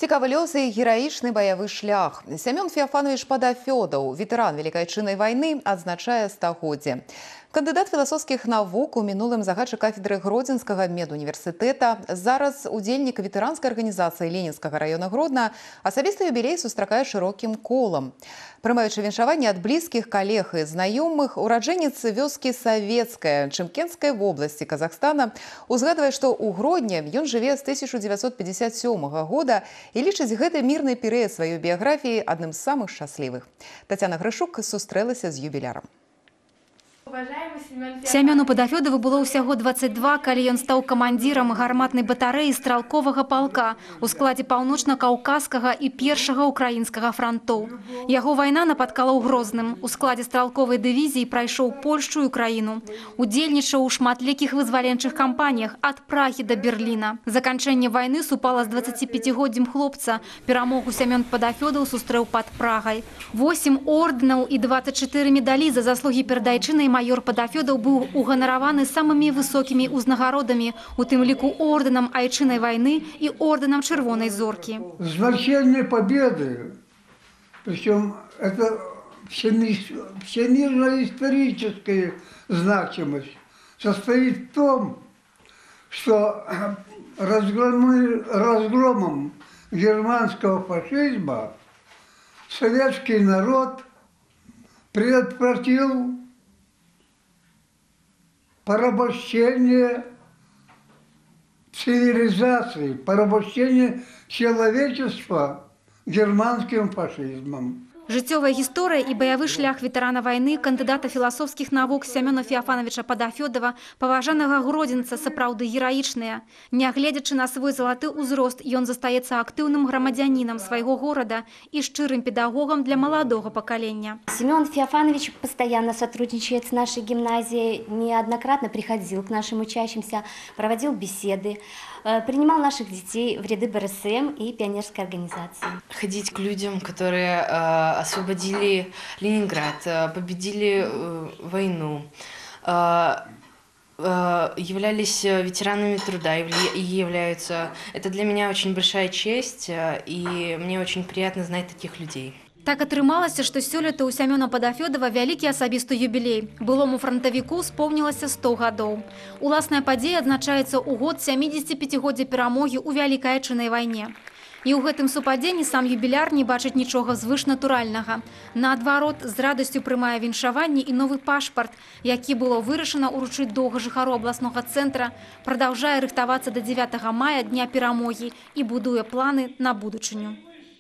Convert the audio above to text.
Цікавы лёс і гераічны баявы шлях. Семён Феофанович Падафёдаў, ветэран Великай Отчыннай вайны, адзначае стагоддзе. Кандыдат філасофскіх навук, у мінулым загадчык кафедры Гродзенскага медуніверсітэта, зараз удзельнік ветэранскай арганізацыі Ленінскага раёна Гродна, асабісты юбілей сустракае шырокім колам. Прымаючы віншаванне ад блізкіх калег і знаёмых, ураджэнец вёскі Савецкая Чымкенскай вобласці Казахстана узгадвае, што ў Гродні ён жыве з 1957 года і лічыць гэты мірны перыяд сваёй біяграфіі адным з самых шчаслівых. Тацяна Грышук сустрэлася з юбілярам. Семёну Падафёдаву было ўсяго 22, калі ён стаў камандзірам гарматнай батарэі стралковага палка у складзе паўночна-каўказскага і першага ўкраінскага франтоў. Яго вайна напаткала ў Грозным. У складзе стралковай дывізіі прайшоў Польшчу і Украіну. Удзельнічаў у шматлікіх вызваленчых кампаніях ад Прагі да Берліна. Заканчэнне вайны супала з 25-годдзем хлопца. Перамогу Семён Падафёдаў сустрэў пад Прагай. 8 ордэнаў і 24 медалі за заслугі перад Айчынай майор Падафёдаў быў уганараваны самымі высокімі ўзнагародамі, у тым ліку ордэнам Айчыннай вайны і ордэнам Чырвонай зоркі. Значение победы, причем это всемирно-историческая значимость, состоит в том, что разгромом германского фашизма советский народ предотвратил порабощение цивилизации, порабощение человечества германским фашизмом. Жыццёвая гісторыя і баявы шлях ветэрана вайны, кандыдата філасофскіх навук Семёна Феофановича Падафёдава, паважанага гродзенца, сапраўды гераічныя. Нягледзячы на свой залаты ўзрост, ён застаецца актыўным грамадзянінам свайго горада і шчырым педагогам для маладога пакалення. Семён Феофанович постоянно сотрудничает с нашей гимназией, неоднократно приходил к нашим учащимся, проводил беседы, принимал наших детей в ряды БРСМ и пионерской организации. Ходить к людям, которые освободили Ленинград, победили войну, являлись ветеранами труда и являются. Это для меня очень большая честь, и мне очень приятно знать таких людей. Так атрымалася, што сёлета ў Семёна Падафёдава вялікі асабісты юбілей. Былому франтавіку спомнілася 100 гадоў. Уласная падзея адзначаецца ў год 75-годдзя перамогі ў Вялікай Отчыннай вайне. І ў гэтым супадзенні сам юбіляр не бачыць нічога звышнатуральнага. Наадварот, з радасцю прымае віншаванне і новы пашпарт, які было вырашана ўручыць доўга жыхару абласнога цэнтра, прадаўжае рыхтавацца да 9 мая, дня перамогі, і будуе планы на будучыню.